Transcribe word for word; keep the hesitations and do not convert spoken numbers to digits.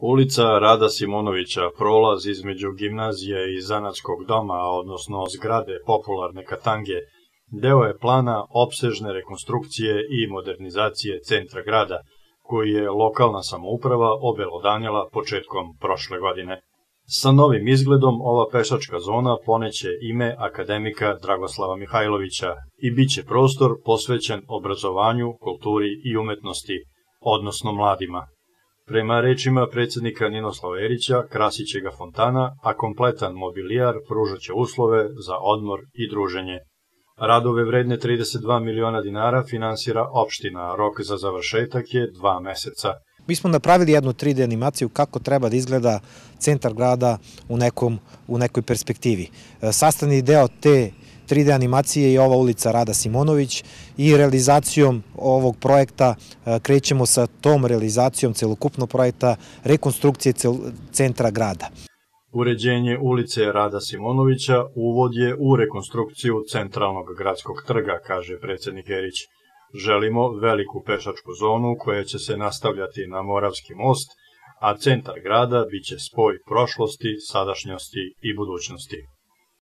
Ulica Rada Simonovića, prolaz između gimnazije i zanatskog doma, odnosno zgrade popularne Katange, deo je plana opsežne rekonstrukcije i modernizacije centra grada, koji je lokalna samouprava obelodanila početkom prošle godine. Sa novim izgledom ova pešačka zona poneće ime akademika Dragoslava Mihajlovića i bit će prostor posvećen obrazovanju, kulturi i umetnosti, odnosno mladima. Prema rečima predsednika Ninoslava Erića, krasiće ga fontana, a kompletan mobilijar pružat će uslove za odmor i druženje. Radove vredne trideset dva miliona dinara finansira opština, rok za završetak je dva meseca. Mi smo napravili jednu tri D animaciju kako treba da izgleda centar grada u, nekom, u nekoj perspektivi. Sastavni deo te tri D animacije je ova ulica Rada Simonović i realizacijom ovog projekta krećemo sa tom realizacijom celokupnog projekta rekonstrukcije centra grada. Uređenje ulice Rada Simonovića uvod je u rekonstrukciju centralnog gradskog trga, kaže predsednik Erić. Želimo veliku pešačku zonu koja će se nastavljati na Moravski most, a centar grada biće spoj prošlosti, sadašnjosti i budućnosti.